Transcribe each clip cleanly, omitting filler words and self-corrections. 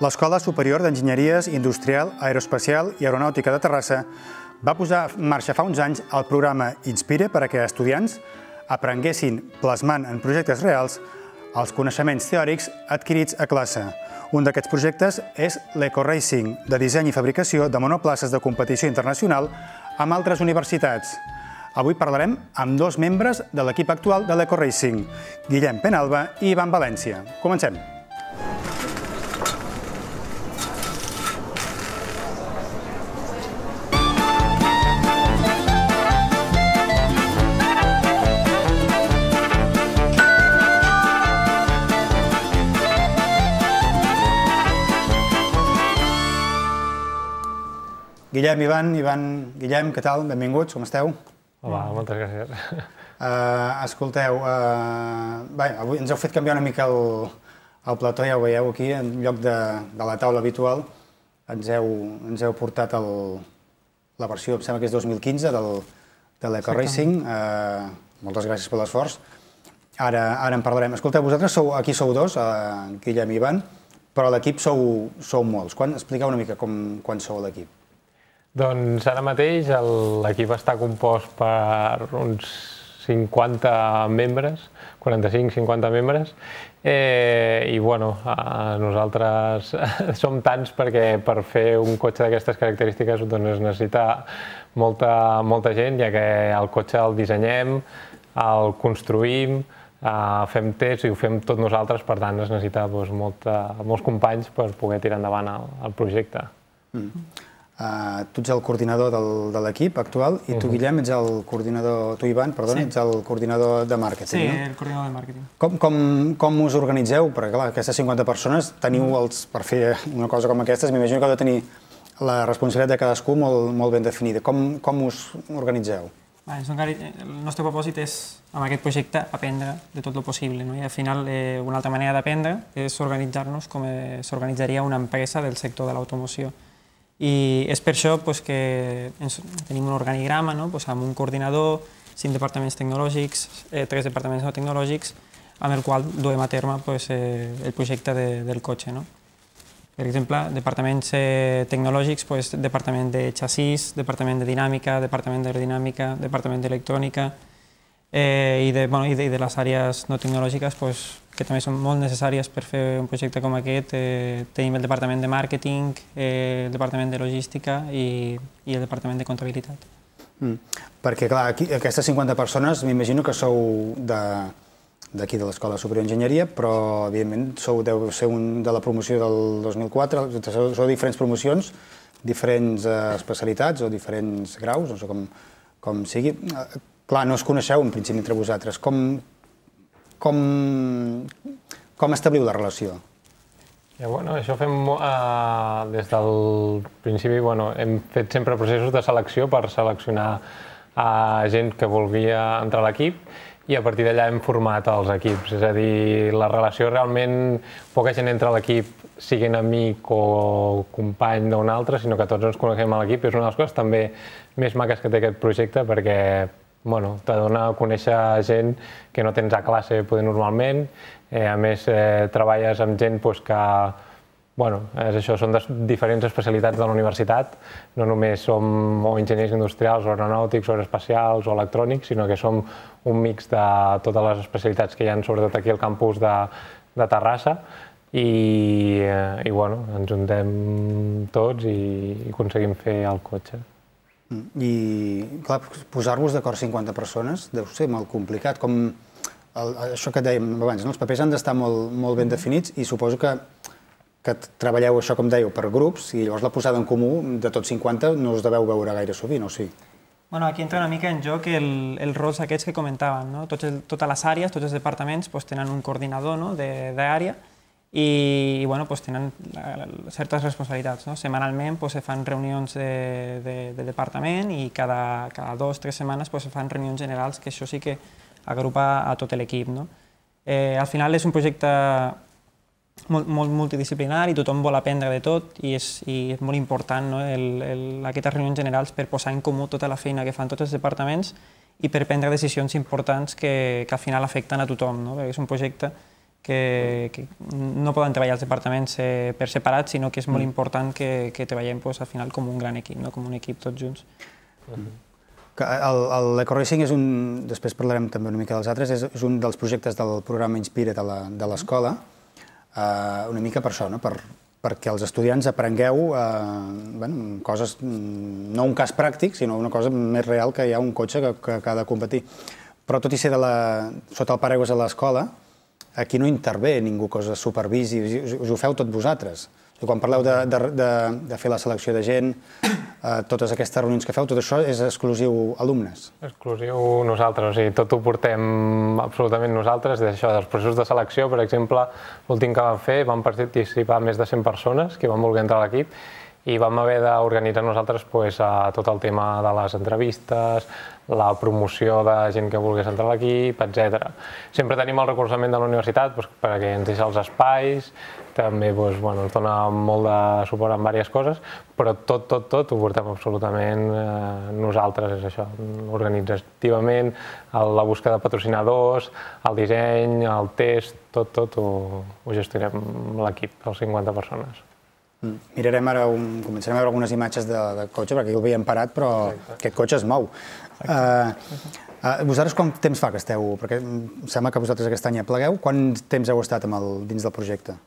L'Escola Superior d'Enginyeries Industrial, Aeroespacial i Aeronàutica de Terrassa va posar en marxa fa uns anys el programa Inspire per a que estudiants aprenguessin plasmant en projectes reals els coneixements teòrics adquirits a classe. Un d'aquests projectes és l'Eco-Racing, de disseny i fabricació de monoplaces de competició internacional amb altres universitats. Avui parlarem amb dos membres de l'equip actual de l'Eco-Racing, Guillem Penalba i Ivan València. Comencem. Guillem, Guillem, què tal? Benvinguts, com esteu? Hola, moltes gràcies. Escolteu, avui ens heu fet canviar una mica el plató, ja ho veieu aquí, en lloc de la taula habitual, ens heu portat la versió, em sembla que és 2015, de l'Eco-Racing. Moltes gràcies per l'esforç. Ara en parlarem. Escolteu, vosaltres aquí sou dos, Guillem i Ivan, però a l'equip sou molts. Expliqueu una mica quan sou a l'equip. Doncs ara mateix l'equip està compost per uns 50 membres, 45-50 membres, i bueno, nosaltres som tants perquè per fer un cotxe d'aquestes característiques es necessita molta gent, ja que el cotxe el dissenyem, el construïm, fem tests i ho fem tot nosaltres, per tant es necessita molts companys per poder tirar endavant el projecte. Tu ets el coordinador de l'equip actual i tu, Guillem, ets el coordinador, tu, Ivan, perdona, ets el coordinador de màrqueting, no? Sí, el coordinador de màrqueting. Com us organitzeu? Perquè, clar, aquestes 50 persones teniu per fer una cosa com aquestes, m'imagino que heu de tenir la responsabilitat de cadascú molt ben definida. Com us organitzeu? El nostre propòsit és, amb aquest projecte, aprendre de tot el possible. I al final, una altra manera d'aprendre és organitzar-nos com s'organitzaria una empresa del sector de l'automoció. I és per això que tenim un organigrama amb un coordinador, 5 departaments tecnològics, 3 departaments no tecnològics, amb el qual duem a terme el projecte del cotxe. Per exemple, departaments tecnològics, departament de xassís, departament de dinàmica, departament d'aerodinàmica, departament d'electrònica, i de les àrees no tecnològiques, que també són molt necessàries per fer un projecte com aquest. Tenim el departament de màrqueting, el departament de logística i el departament de comptabilitat. Perquè, clar, aquestes 50 persones m'imagino que sou d'aquí de l'Escola Superior d'Enginyeria, però, evidentment, deu ser de la promoció del 2004, sou diferents promocions, diferents especialitats o diferents graus, no sé com sigui. Clar, no us coneixeu, en principi, entre vosaltres. Com establiu la relació? Això fem des del principi. Hem fet sempre processos de selecció per seleccionar gent que volia entrar a l'equip i a partir d'allà hem format els equips. És a dir, la relació realment, poca gent entra a l'equip siguin amic o company d'un altre, sinó que tots ens coneixem a l'equip. És una de les coses també més maques que té aquest projecte perquè te dona a conèixer gent que no tens a classe normalment. A més, treballes amb gent que són de diferents especialitats de la universitat. No només som o enginyers industrials, o aeronàutics, o aeroespacials, o electrònics, sinó que som un mix de totes les especialitats que hi ha, sobretot aquí al campus de Terrassa. I ens juntem tots i aconseguim fer el cotxe. I, clar, posar-vos d'acord 50 persones deu ser molt complicat. Com això que dèiem abans, els papers han d'estar molt ben definits i suposo que treballeu això, com dèieu, per grups i llavors la posada en comú de tots 50 no us deveu veure gaire sovint, o sí? Aquí entra una mica en joc els rols aquests que comentàvem. Totes les àrees, tots els departaments tenen un coordinador d'àrea i tenen certes responsabilitats. Setmanalment se fan reunions de departament i cada 2 o 3 setmanes se fan reunions generals, que això sí que agrupa a tot l'equip. Al final és un projecte molt multidisciplinari, tothom vol aprendre de tot i és molt important aquestes reunions generals per posar en comú tota la feina que fan tots els departaments i per prendre decisions importants que al final afecten a tothom. És un projecte que no poden treballar els departaments per separat, sinó que és molt important que treballem al final com un gran equip, com un equip tots junts. L'EcoRacing és un, després parlarem també una mica dels altres, és un dels projectes del programa Inspira't de l'escola, una mica per això, perquè els estudiants aprengueu coses, no un cas pràctic, sinó una cosa més real, que hi ha un cotxe que ha de competir. Però tot i ser sota el paraigües de l'escola, aquí no intervé ningú que us supervisi, us ho feu tot vosaltres. Quan parleu de fer la selecció de gent, totes aquestes reunions que feu, tot això és exclusiu alumnes? Exclusiu nosaltres, o sigui, tot ho portem absolutament nosaltres, dels processos de selecció, per exemple, l'últim que vam fer, vam participar més de 100 persones que van voler entrar a l'equip, i vam haver d'organitzar nosaltres tot el tema de les entrevistes, la promoció de gent que volgués entrar a l'equip, etc. Sempre tenim el recolzament de la universitat perquè ens deixa els espais, també ens dona molt de suport en diverses coses, però tot ho portem absolutament nosaltres, és això, organitzativament, la busca de patrocinadors, el disseny, el test, tot ho gestionem l'equip, els 50 persones. Mirarem ara, començarem a veure algunes imatges de cotxe, perquè aquí el veiem parat, però aquest cotxe es mou. Vosaltres quant temps fa que esteu? Perquè em sembla que vosaltres aquest any ja plegueu. Quant temps heu estat dins del projecte?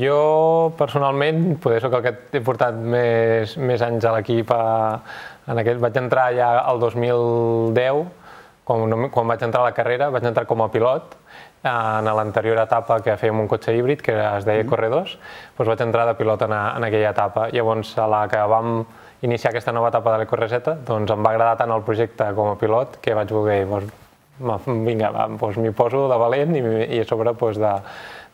Jo, personalment, soc el que he portat més anys a l'equip. Vaig entrar ja el 2010, quan vaig entrar a la carrera, vaig entrar com a pilot. En l'anterior etapa que fèiem un cotxe híbrid, que es deia Corredors, vaig entrar de pilot en aquella etapa. Llavors, a la que vam iniciar aquesta nova etapa de l'EcoReset, em va agradar tant el projecte com a pilot que vaig voler, vinga, m'hi poso de valent i a sobre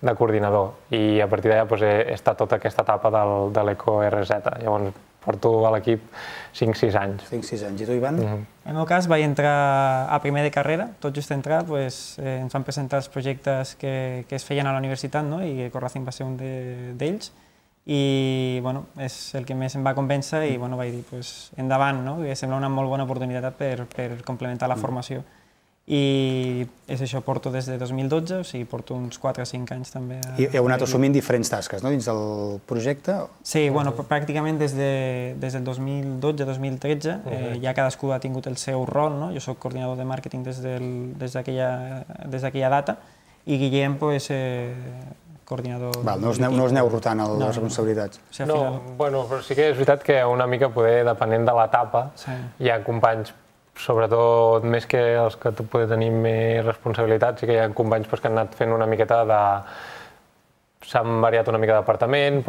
de coordinador. I a partir d'allà he estat tota aquesta etapa de l'EcoReset. Llavors, porto a l'equip 5-6 anys. 5-6 anys. I tu, Ivan? En el meu cas, vaig entrar a primer de carrera. Tot just entrar, ens van presentar els projectes que es feien a la universitat, i EcoRacing va ser un d'ells. I és el que més em va convèncer i vaig dir, endavant, que sembla una molt bona oportunitat per complementar la formació. I és això, porto des de 2012, o sigui, porto uns 4 o 5 anys també. I heu anat assumint diferents tasques, dins del projecte? Sí, pràcticament des del 2012-2013 ja cadascú ha tingut el seu rol. Jo soc coordinador de màrqueting des d'aquella data i Guillem, coordinador... No us aneu rotant les responsabilitats? No, però sí que és veritat que una mica, depenent de l'etapa, hi ha companys, sobretot més que els que poden tenir més responsabilitats, sí que hi ha companys que han anat fent una miqueta de... s'han variat una mica d'apartament,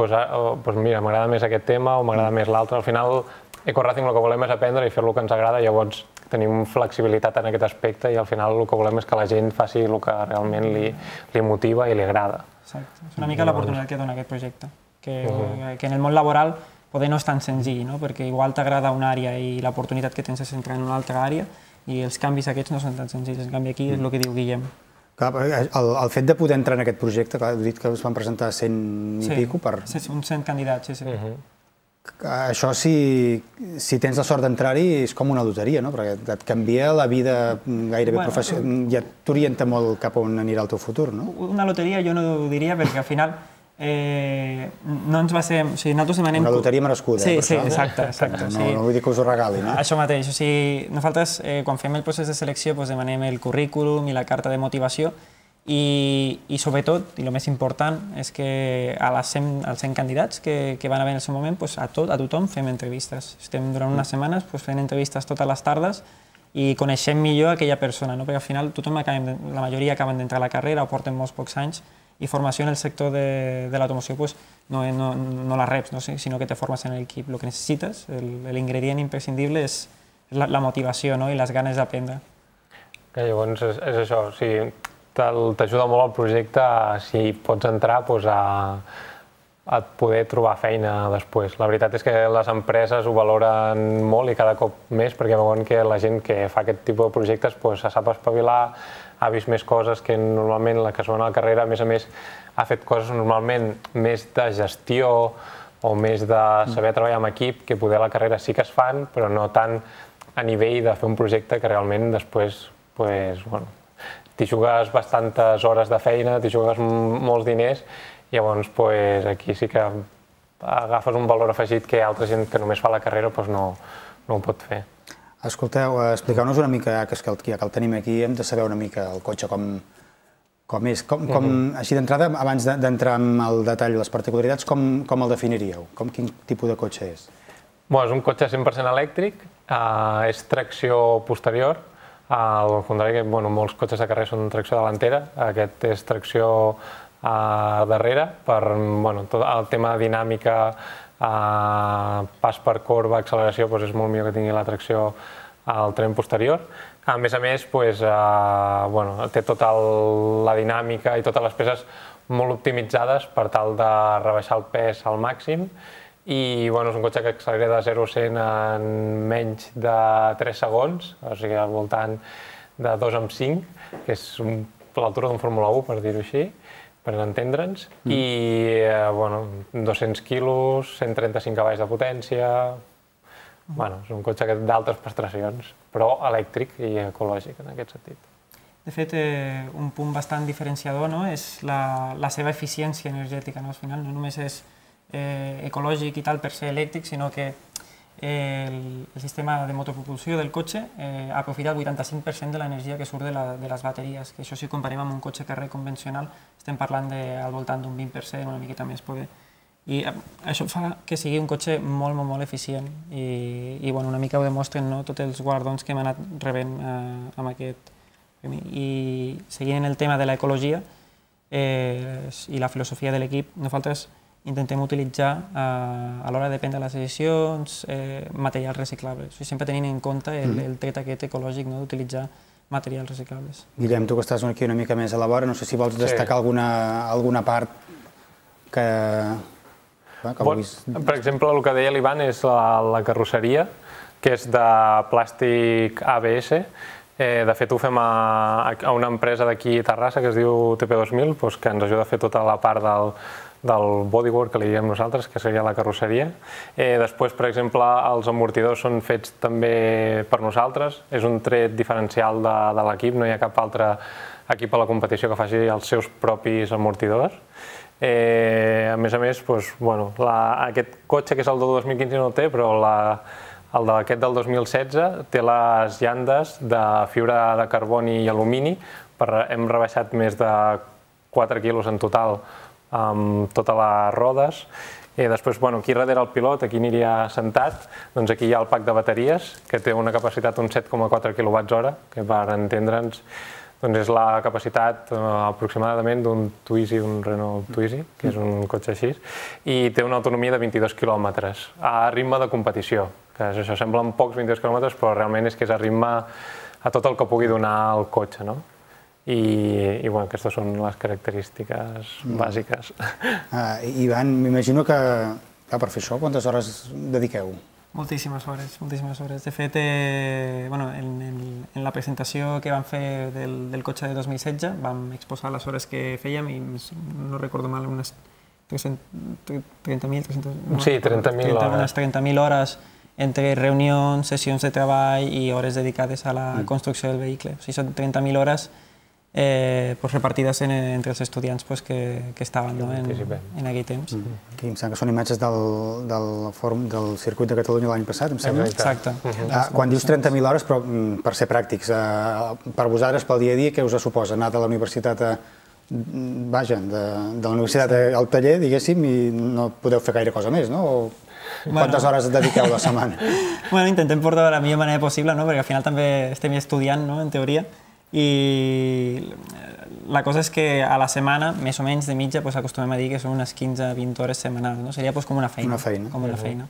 mira, m'agrada més aquest tema o m'agrada més l'altre. Al final, EcoRacing el que volem és aprendre i fer el que ens agrada, llavors tenim flexibilitat en aquest aspecte i al final el que volem és que la gent faci el que realment li motiva i li agrada. Exacte, és una mica l'oportunitat que dona aquest projecte, que en el món laboral poder no és tan senzill, perquè igual t'agrada una àrea i l'oportunitat que tens és entrar en una altra àrea i els canvis aquests no són tan senzills. En canvi, aquí és el que diu Guillem. El fet de poder entrar en aquest projecte, heu dit que us van presentar 100 i pico per... Sí, uns 100 candidats, sí. Això, si tens la sort d'entrar-hi, és com una loteria, perquè et canvia la vida gairebé professional, ja t'orienta molt cap on anirà el teu futur, no? Una loteria jo no ho diria, perquè al final no ens va ser... O sigui, nosaltres demanem... Una loteria merescuda, per això. Sí, exacte. No vull dir que us ho regalin, eh? Això mateix. O sigui, nosaltres, quan fem el procés de selecció, demanem el currículum i la carta de motivació i sobretot, i el més important, és que als 100 candidats que van haver en el seu moment, a tothom fem entrevistes. Estem durant unes setmanes fent entrevistes totes les tardes i coneixem millor aquella persona, perquè al final la majoria acaben d'entrar a la carrera o porten molts pocs anys i formació en el sector de l'automoció no la reps, sinó que te formes en l'equip. El que necessites, l'ingredient imprescindible és la motivació i les ganes d'aprendre. Llavors és això, t'ajuda molt el projecte si pots entrar a poder trobar feina després. La veritat és que les empreses ho valoren molt i cada cop més perquè veuen que la gent que fa aquest tipus de projectes se sap espavilar, ha vist més coses que normalment la que es va a la carrera, a més, ha fet coses normalment més de gestió o més de saber treballar en equip, que poder a la carrera sí que es fan, però no tant a nivell de fer un projecte que realment després t'hi jugues bastantes hores de feina, t'hi jugues molts diners, i llavors aquí sí que agafes un valor afegit que altra gent que només fa la carrera no ho pot fer. Escolteu, expliqueu-nos una mica, que ja que el tenim aquí, hem de saber una mica el cotxe com és. Així d'entrada, abans d'entrar en el detall i les particularitats, com el definiríeu? Quin tipus de cotxe és? És un cotxe 100% elèctric, és tracció posterior, al contrari que molts cotxes de carrer són tracció delantera, aquest és tracció darrere, per tot el tema de dinàmica, pas per corba, acceleració, és molt millor que tingui la tracció al tren posterior. A més, té tota la dinàmica i totes les peces molt optimitzades per tal de rebaixar el pes al màxim, i és un cotxe que accelera de 0 a 100 en menys de 3 segons, o sigui, al voltant de 2,5, que és l'altura d'un Fórmula 1, per dir-ho així, per entendre'ns, i 200 quilos, 135 cavalls de potència. És un cotxe d'altes prestacions, però elèctric i ecològic en aquest sentit. De fet, un punt bastant diferenciador és la seva eficiència energètica. Al final no només és ecològic i tal per ser elèctric, sinó que el sistema de motopropulsió del cotxe aprofita el 85% de l'energia que surt de les bateries, que això si ho comparem amb un cotxe carrer convencional estem parlant al voltant d'un 20%, una miqueta més poder. I això fa que sigui un cotxe molt, molt eficient i una mica ho demostren tots els guardons que hem anat rebent amb aquest premi. I seguint en el tema de l'ecologia i la filosofia de l'equip, nosaltres intentem utilitzar a l'hora de prendre les decisions materials reciclables, sempre tenint en compte el tret aquest ecològic d'utilitzar materials reciclables. Guillem, tu que estàs aquí una mica més a la vora, no sé si vols destacar alguna part que vulguis... Per exemple, el que deia l'Ivan és la carrosseria, que és de plàstic ABS. De fet, ho fem a una empresa d'aquí a Terrassa que es diu TP2000, que ens ajuda a fer tota la part del bodywork, que li diem nosaltres, que seria la carrosseria. Després, per exemple, els amortidors són fets també per nosaltres. És un tret diferencial de l'equip, no hi ha cap altre equip a la competició que faci els seus propis amortidors. A més, aquest cotxe, que és el del 2015, no el té, però aquest del 2016 té les llandes de fibra de carboni i alumini. Hem rebaixat més de 4 quilos en total amb totes les rodes. Després, aquí darrere el pilot, aquí aniria sentat, doncs aquí hi ha el pack de bateries, que té una capacitat d'un 7,4 kWh, que per entendre'ns és la capacitat aproximadament d'un Twizy, d'un Renault Twizy, que és un cotxe així, i té una autonomia de 22 quilòmetres a ritme de competició, que això semblen pocs 22 quilòmetres, però realment és que és a ritme a tot el que pugui donar el cotxe, no? I aquestes són les característiques bàsiques. Ivan, m'imagino que per fer això quantes hores dediqueu? Moltíssimes hores, moltíssimes hores. De fet, en la presentació que vam fer del cotxe de 2016 vam exposar les hores que fèiem i no recordo mal, unes 30.000 hores. 30.000 hores entre reunions, sessions de treball i hores dedicades a la construcció del vehicle. O sigui, són 30.000 hores repartides entre els estudiants que estaven en aquell temps. Em sembla que són imatges del circuit de Catalunya l'any passat, em sembla. Exacte. Quan dius 30.000 hores, però per ser pràctics, per vosaltres, pel dia a dia, què us suposa? Anar de la universitat de la universitat al taller, diguéssim, i no podeu fer gaire cosa més, no? Quantes hores et dediqueu a la setmana? Intentem portar de la millor manera possible, perquè al final també estem estudiant, en teoria, i la cosa és que a la setmana, més o menys de mitja, acostumem a dir que són unes 15-20 hores setmanals. Seria com una feina. Com una feina.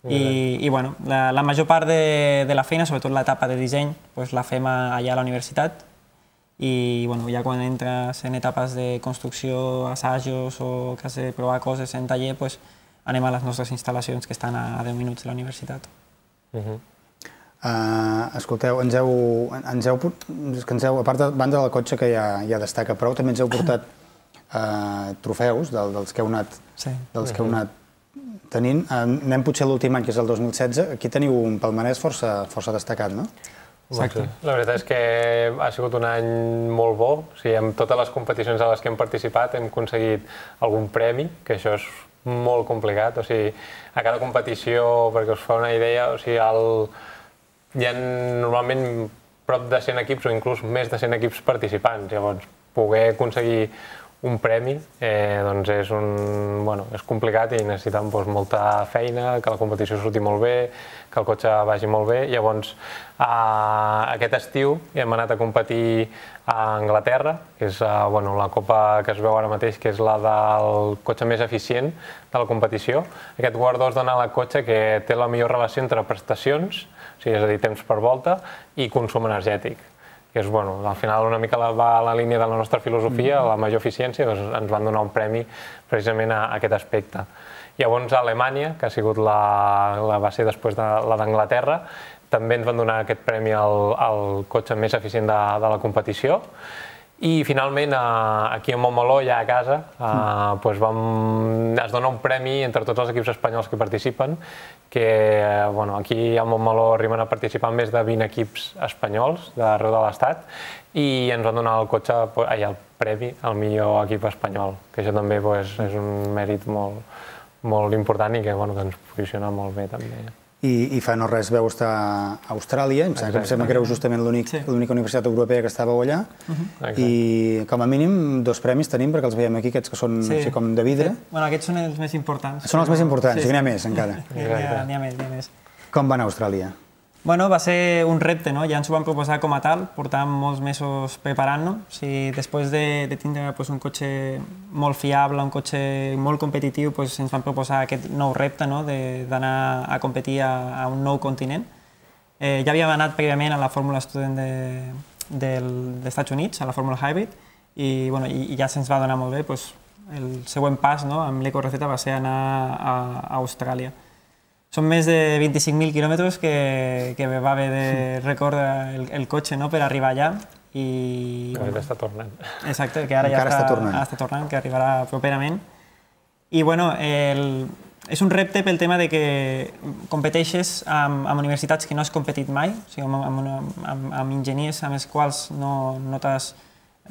I la major part de la feina, sobretot l'etapa de disseny, la fem allà a la universitat i ja quan entres en etapes de construcció, assajos o que has de provar coses en taller, anem a les nostres instal·lacions que estan a 10 minuts de la universitat. Escolteu, a part de banda del cotxe que ja destaca prou, també ens heu portat trofeus dels que heu anat tenint. Anem potser a l'últim any, que és el 2016. Aquí teniu un palmarès força destacat, no? Exacte. La veritat és que ha sigut un any molt bo. O sigui, amb totes les competicions a les que hem participat hem aconseguit algun premi, que això és molt complicat. O sigui, a cada competició, perquè us fa una idea, o sigui, hi ha normalment prop de 100 equips o inclús més de 100 equips participants. Llavors, poder aconseguir un premi doncs és complicat i necessitem molta feina, que la competició surti molt bé, que el cotxe vagi molt bé. Llavors, aquest estiu hem anat a competir a Anglaterra, que és la copa que es veu ara mateix, que és la del cotxe més eficient de la competició. Aquest guardó es dona al cotxe que té la millor relació entre prestacions, o sigui, és a dir, temps per volta, i consum energètic. Que és, al final una mica va a la línia de la nostra filosofia, la major eficiència, doncs ens van donar un premi precisament a aquest aspecte. Llavors a Alemanya, que ha sigut va ser després de la d'Anglaterra, també ens van donar aquest premi al cotxe més eficient de la competició. I finalment aquí a Montmeló, ja a casa, es dona un premi entre tots els equips espanyols que participen, que aquí a Montmeló arriben a participar més de 20 equips espanyols d'arreu de l'Estat i ens van donar el premi al millor equip espanyol, que això també és un mèrit molt important i que ens posiciona molt bé també. I fa no res veu estar a Austràlia, em sembla que éreu justament l'única universitat europea que estàveu allà, i com a mínim 2 premis tenim, perquè els veiem aquí, aquests que són així com de vidre. Aquests són els més importants. Són els més importants, i n'hi ha més encara. N'hi ha més. Com va anar a Austràlia? Va ser un repte, ja ens ho vam proposar com a tal, portàvem molts mesos preparant-nos. Després de tindre un cotxe molt fiable, un cotxe molt competitiu, ens vam proposar aquest nou repte d'anar a competir a un nou continent. Ja havíem anat prèviament a la Fórmula Student dels Estats Units, a la Fórmula Hybrid, i ja se'ns va donar molt bé. El següent pas amb l'EcoRZ va ser anar a Austràlia. Són més de 25.000 quilòmetres que va haver de recórrer el cotxe per arribar allà. Ara està tornant. Exacte, que ara ja està tornant, que arribarà properament. I és un repte pel tema de que competeixes amb universitats que no has competit mai, o sigui, amb enginyers amb els quals no t'has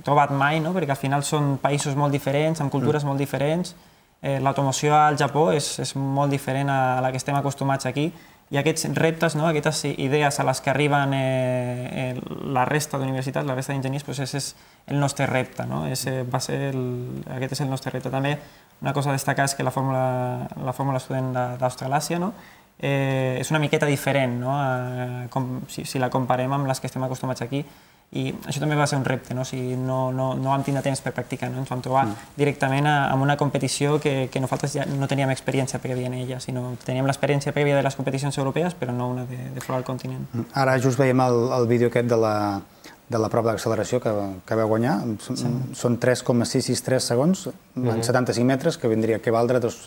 trobat mai, perquè al final són països molt diferents, amb cultures molt diferents. L'automoció al Japó és molt diferent a la que estem acostumats aquí, i aquests reptes, aquestes idees a les que arriben la resta d'universitats, la resta d'enginyers, és el nostre repte. Aquest és el nostre repte. També una cosa a destacar és que la Fórmula Student d'Australàsia és una miqueta diferent si la comparem amb les que estem acostumats aquí. I això també va ser un repte, no vam tindre temps per practicar, ens vam trobar directament amb una competició que nosaltres ja no teníem experiència prèvia en ella, sinó teníem l'experiència prèvia de les competicions europees, però no una de fora del continent. Ara just veiem el vídeo aquest de la prova d'acceleració que vau guanyar. Són 3,663 segons en 75 metres, que vindria a valdre 2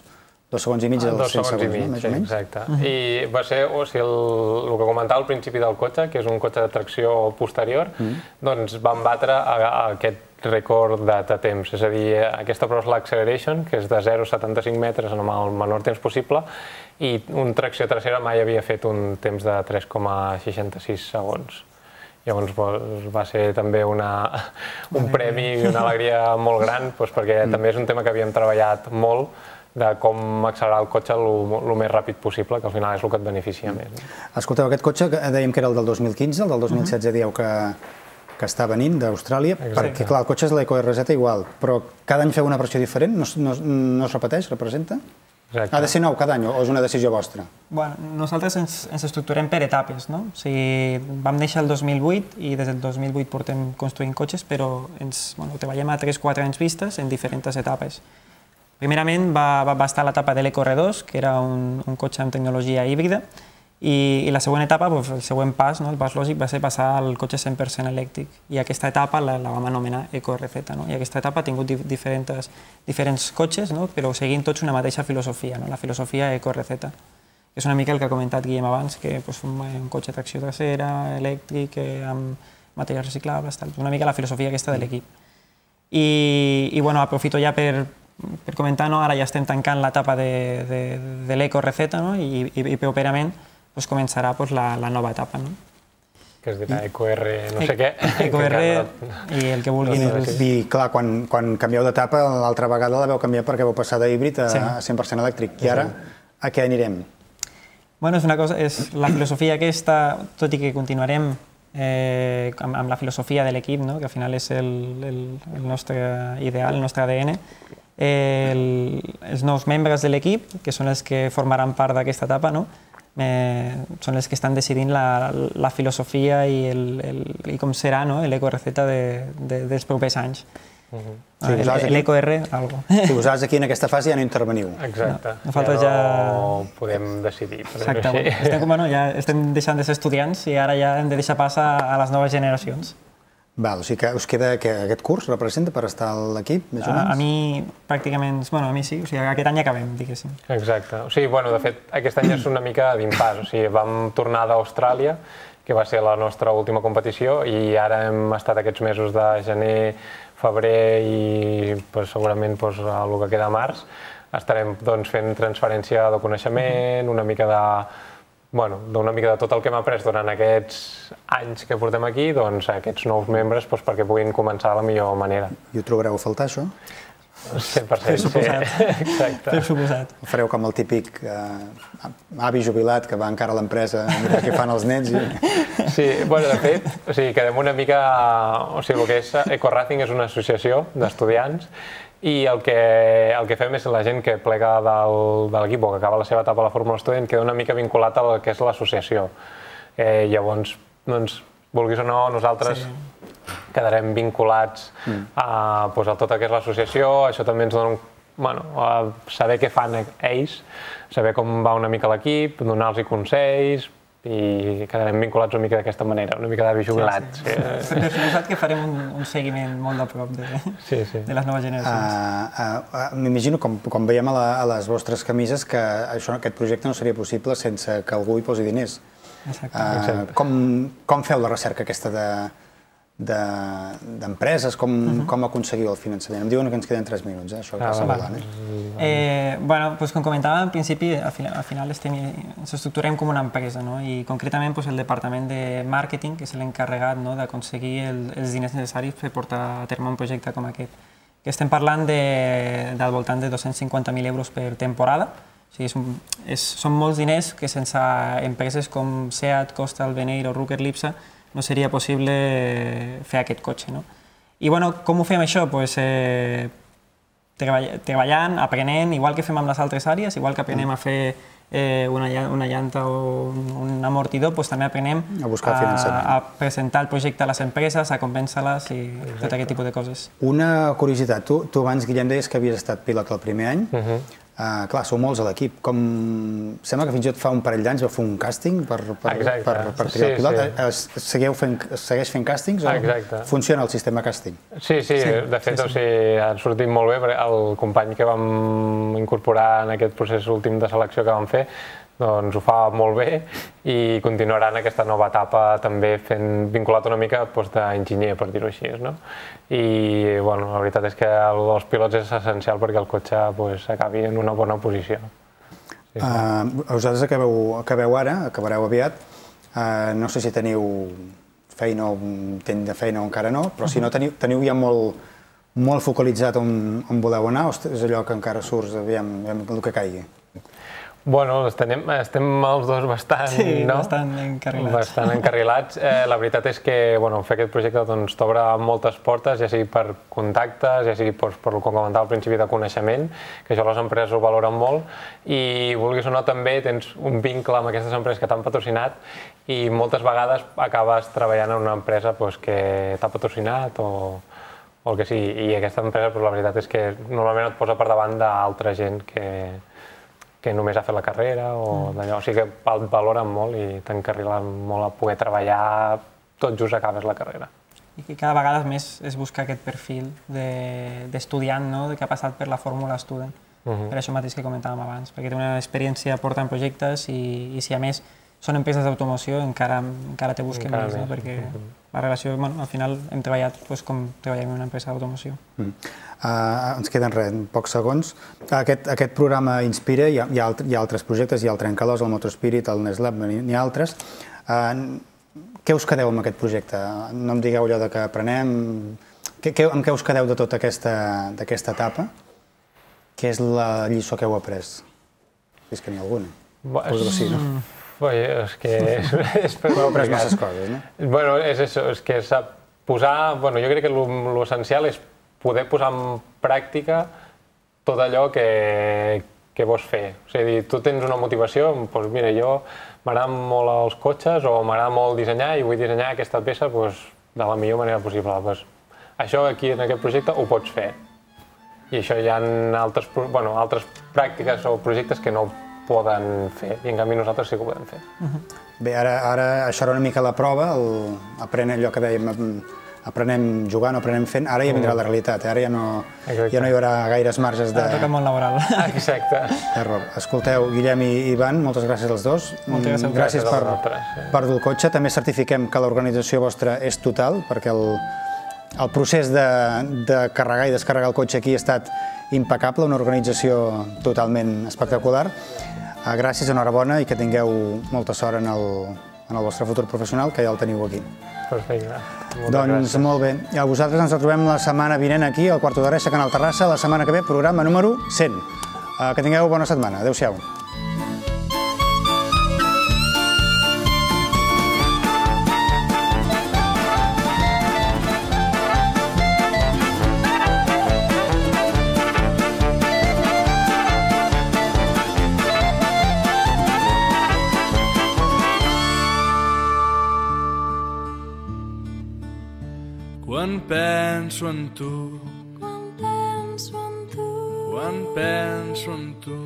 segons i mig dels 100 segons, més o menys? Exacte. I va ser, el que comentava al principi del cotxe, que és un cotxe de tracció posterior, doncs van batre aquest rècord de temps. És a dir, aquesta prova és l'acceleration, que és de 0,75 metres en el menor temps possible, i un tracció trasera mai havia fet un temps de 3,66 segons. Llavors va ser també un premi i una alegria molt gran, perquè també és un tema que havíem treballat molt, de com accelerar el cotxe el més ràpid possible, que al final és el que et beneficia més. Escolteu, aquest cotxe dèiem que era el del 2015, el del 2016 dieu que està venint d'Austràlia, perquè clar, el cotxe és l'EcoRZ igual, però cada any feu una versió diferent? No es repeteix, representa? Ha de ser nou cada any o és una decisió vostra? Nosaltres ens estructurem per etapes. Vam néixer el 2008 i des del 2008 portem construint cotxes, però treballem a 3-4 anys vistes en diferents etapes. Primerament va estar l'etapa de l'EcoR2, que era un cotxe amb tecnologia híbrida, i la següent etapa, el següent pas, el pas lògic, va ser passar al cotxe 100% elèctric. I aquesta etapa la vam anomenar EcoRZ. I aquesta etapa ha tingut diferents cotxes, però seguint tots una mateixa filosofia, la filosofia EcoRZ. És una mica el que ha comentat Guillem abans, que un cotxe de tracció trasera, elèctric, amb materials reciclables, una mica la filosofia aquesta de l'equip. I aprofito ja per comentar, ara ja estem tancant l'etapa de l'EcoRZ i properament començarà la nova etapa. que es dirà EcoR no sé què. EcoR i el que vulguin. I clar, quan canvieu d'etapa, l'altra vegada la vau canviar perquè vau passar d'híbrid a 100% elèctric. I ara, a què anirem? Bueno, és la filosofia aquesta, tot i que continuarem amb la filosofia de l'equip, que al final és el nostre ideal, el nostre ADN, els nous membres de l'equip, que són els que formaran part d'aquesta etapa, són els que estan decidint la filosofia i com serà l'EcoReceta dels propers anys. L'EcoR, algo. Si vosaltres aquí en aquesta fase ja no interveniu. Exacte, ja no podem decidir. Exacte, ja estem deixant de ser estudiants i ara ja hem de deixar pas a les noves generacions. Val, o sigui que us queda que aquest curs representa per estar a l'equip, més o menys? A mi, pràcticament, a mi sí, o sigui, aquest any acabem, diguéssim. Exacte, o sigui, de fet, aquest any és una mica d'impàs, o sigui, vam tornar d'Austràlia, que va ser la nostra última competició, i ara hem estat aquests mesos de gener, febrer i segurament el que queda març, estarem fent transferència de coneixement, una mica de tot el que hem après durant aquests anys que portem aquí, aquests nous membres perquè puguin començar de la millor manera. I ho trobareu a faltar, això? 100%, sí. Exacte. Per suposat. Fareu com el típic avi jubilat que va encara a l'empresa a mirar què fan els nens. Sí, de fet, quedem una mica... O sigui, el que és EcoRacing és una associació d'estudiants i el que fem és la gent que plega de l'equip o que acaba la seva etapa a la Fórmula Student queda una mica vinculat al que és l'associació. Llavors, vulguis o no, nosaltres quedarem vinculats a tot el que és l'associació. Això també ens dona saber què fan ells, saber com va una mica l'equip, donar-los consells, i quedarem vinculats una mica d'aquesta manera, una mica d'avi jubilat. Per suposat que farem un seguiment molt de prop de les noves generacions. M'imagino, com veiem a les vostres camises, que aquest projecte no seria possible sense que algú hi posi diners. Com feu la recerca aquesta d'empreses, com aconseguiu el finançament? Em diuen que ens queden 3 minuts, això passa volant. Com comentava, en principi, al final ens estructurem com una empresa, i concretament el departament de màrqueting, que és l'encarregat d'aconseguir els diners necessaris per portar a terme un projecte com aquest. Estem parlant del voltant de 250.000 euros per temporada, són molts diners que sense empreses com SEAT, Costal, Veneir o Rucker Lipsa no seria possible fer aquest cotxe. I com ho fem això? Treballant, aprenent, igual que fem amb les altres àrees, igual que aprenem a fer una llanta o un amortidor, també aprenem a presentar el projecte a les empreses, a convèncer-les i tot aquest tipus de coses. Una curiositat, tu abans, Guillem, deies que havies estat pilot el primer any. Clar, sou molts a l'equip. Sembla que fins i tot fa un parell d'anys va fer un càsting per triar el pilot. Segueix fent càstings o funciona el sistema càsting? Sí, de fet ha sortit molt bé, perquè el company que vam incorporar en aquest procés últim de selecció que vam fer ho fa molt bé i continuarà en aquesta nova etapa també vinculat una mica d'enginyer, per dir-ho així. I la veritat és que el dels pilots és essencial perquè el cotxe acabi en una bona posició. Vosaltres acabeu ara, acabareu aviat. No sé si teniu feina o intent de feina o encara no, però si no teniu ja molt focalitzat on voleu anar o és allò que encara surts, aviam el que caigui? Estem els dos bastant encarrilats. La veritat és que fer aquest projecte t'obre moltes portes, ja sigui per contactes, ja sigui per el que comentava al principi de coneixement, que això les empreses ho valoren molt, i vulguis o no també tens un vincle amb aquestes empreses que t'han patrocinat i moltes vegades acabes treballant en una empresa que t'ha patrocinat o el que sigui, i aquesta empresa la veritat és que normalment et posa per davant d'altra gent que només ha fet la carrera o d'allò. O sigui que el valoren molt i t'encarrilen molt a poder treballar tot just acabes la carrera. I que cada vegada més es busca aquest perfil d'estudiant que ha passat per la Fórmula Student. Per això mateix que comentàvem abans, perquè té una experiència, porta en projectes i si a més són empreses d'automoció encara te busquen més, perquè la relació, al final hem treballat com treballem en una empresa d'automoció. Ens queden pocs segons. Aquest programa Inspira, hi ha altres projectes, hi ha el Trencalòs, el Motorspirit, el Neslab, n'hi ha altres. Què us quedeu amb aquest projecte? No em digueu allò de que aprenem... Amb què us quedeu de tota aquesta etapa? Què és la lliçó que heu après? Si és que n'hi ha alguna. Suposo que sí, no? És que... Heu après masses coses, no? Bueno, és això, és que sap posar... Bueno, jo crec que l'essencial és poder posar en pràctica tot allò que vols fer. O sigui, tu tens una motivació, doncs mira, jo m'agraden molt els cotxes o m'agrada molt dissenyar i vull dissenyar aquesta peça de la millor manera possible. Això aquí en aquest projecte ho pots fer. I això hi ha altres pràctiques o projectes que no poden fer, i en canvi nosaltres sí que ho podem fer. Bé, ara això era una mica la prova, aprenem allò que dèiem, aprenem jugant o aprenem fent, ara ja vindrà la realitat, ara ja no hi haurà gaires marges de... Ara toca el món laboral. Exacte. Error. Escolteu, Guillem i Ivan, moltes gràcies als dos. Moltes gràcies. Gràcies per dur el cotxe. També certifiquem que l'organització vostra és total, perquè el procés de carregar i descarregar el cotxe aquí ha estat impecable, una organització totalment espectacular. Gràcies, enhorabona i que tingueu molta sort en el vostre futur professional, que ja el teniu aquí. Perfecte. Doncs molt bé. I a vosaltres ens trobem la setmana vinent aquí, al Quarto d'Hora, a Canal Terrassa, la setmana que ve, programa número 100. Que tingueu bona setmana. Adéu-siau. Quan penso en tu, quan penso en tu,